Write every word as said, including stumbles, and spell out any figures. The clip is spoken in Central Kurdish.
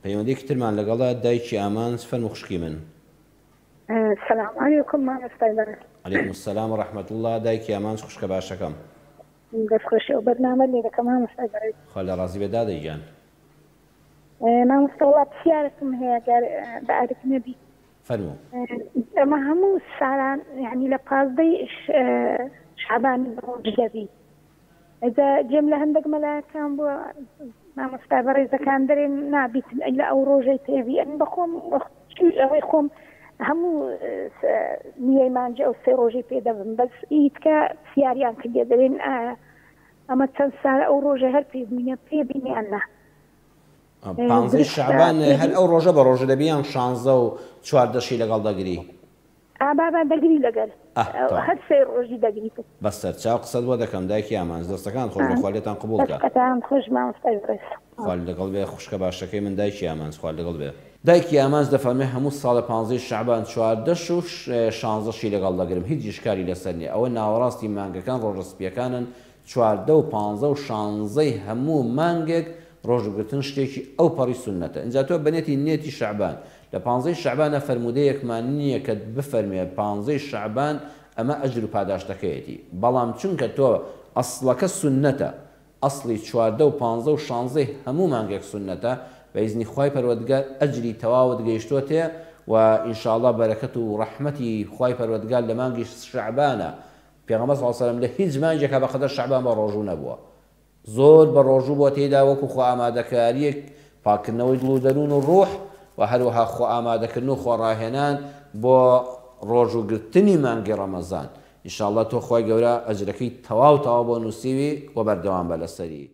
پەیوەندیەکی ترمان لەگەڵە دایکی ئامانج، فەرموو خوشکی من. سلام علیکم مامۆستای بەڕێز. علیکم السلام و رحمة اللە. دایکی ئامانج خوشکە باشەکەم. دەستخۆشی ئەو بەرنامە لێ دەکەم مامۆستای بەڕێز. خوا لێ ڕازی بێ دادەی گیان. مامۆستا وەڵا پرسیارێکم هەیە گەر بە ئەرک نەبی. فەرموو. ئەمە هەموو ساڵان یعنی لە پازدەی شعبانی بە ڕۆژ دەبی. ئەجا جێم لە هەندێک مەلایەکان بووە مامۆستا بەڕێزەکان دەرێن نابیت لە ئەو ڕۆژەی پێبی. ئەم بەخۆم ئەوەی خۆم هەموو نیەی مانجە ئەو سێ ڕۆژەی پێ دەبم، بەس ئیتکە پرسیاریان کردێ دەرێن ئایا ئەمە چەند ساڵە ئەو ڕۆژە هەر پێ بینە پێ بینیان نا. پانزەی شعبان هەر ئەو ڕۆژە بە ڕۆژە دەبی یان شانزە و چواردەشی لەگەڵ دەگری؟ ئابابا دەگری لەگەل هەر سێ ڕۆژی دەگری. بەسەر چاو قسەت بۆ دەکەم دایکی ئامانج، دەستەکان خۆش بێ، خوا لێتان قبوڵ کە. دەستەکان خۆش مامۆستای بەڕێز. خوا لەگەڵ بێ خوشکە باشەکەی من دایکی ئامانج، خوا لەگەڵ بێ. دایکی ئامانج دەفەرمێ هەموو ساڵە پانزەی شعبان چواردەش و شانزەشی لەگەڵ دەگرم، هیچ ئیشکالی لەسەر نییە. ئەوە ناوەڕاستی مانگەکان ڕۆژە سپیەکانن، چواردە و پانزە و شانزەی هەموو مانگێک ڕۆژوگرتن شتێکی ئەو پەڕی سوننەتە. ئینجا تۆ بەنێتی نێتی شعبان لە پانزەی شعبانە فەرموودەیەکمان نییە کە بفەرمێ پانزەی شعبان ئەمە ئەجر و پاداشتەکەیەتی، بەڵام چونکە تۆ ئەسڵەکە سوننەتە، ئەسڵی چواردە و پانزە و شانزەی هەموو مانگێک سوننەتە، بە ئیزنی خوای پەروەردگار ئەجری تەواوت گەیشتۆتێ و ئینشاءڵڵا بەرەکەت و ڕەحمەتی خوای پەروەردگار لە مانگی شعبانە. پێغەمبەر صلی الله علیه و سلم لە هیچ مانگێکا بەقەدەر شعبان بە ڕۆژوو نەبووە، زۆر بە ڕۆژوو بۆ تێدا وەکو خۆ ئامادەکاریەک پاکردنەوەی دڵ و دەروون و ڕوح و هەروەها خۆ ئامادەکردن و خۆڕاهێنان بۆ ڕۆژووگرتنی مانگی ڕەمەزان. ئینشاءڵڵا تۆ خوای گەورە ئەجرەکەی تەواو تەواو بۆ نووسیوی و بەردەوام بە لەسەری.